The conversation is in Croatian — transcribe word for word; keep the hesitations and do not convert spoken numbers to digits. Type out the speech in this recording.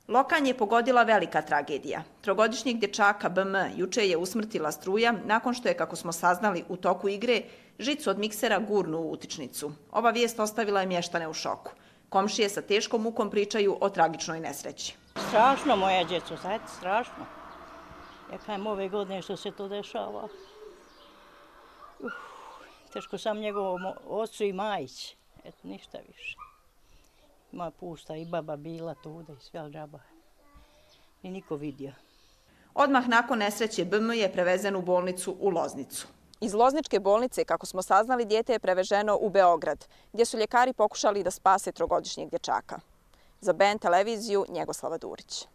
Lokanj je pogodila velika tragedija. Trogodišnjeg dječaka B M juče je usmrtila struja nakon što je, kako smo saznali u toku igre, žicu od miksera gurnu u utičnicu. Ova vijest ostavila je mještane u šoku. Komšije sa teškom mukom pričaju o tragičnoj nesreći. Strašno, moja djeco, znate, strašno. Ja kajem ove godine što se to dešava. Uf, teško sam njegovom ocu i majić. Eto, ništa više. Moja pusta i baba bila tuda i sve džaba. I niko vidio. Odmah nakon nesreće B M je prevezen u bolnicu u Loznicu. Iz Lozničke bolnice, kako smo saznali, dijete je preveženo u Beograd, gdje su ljekari pokušali da spase trogodišnjeg dječaka. Za B N televiziju, Njegoslava Durić.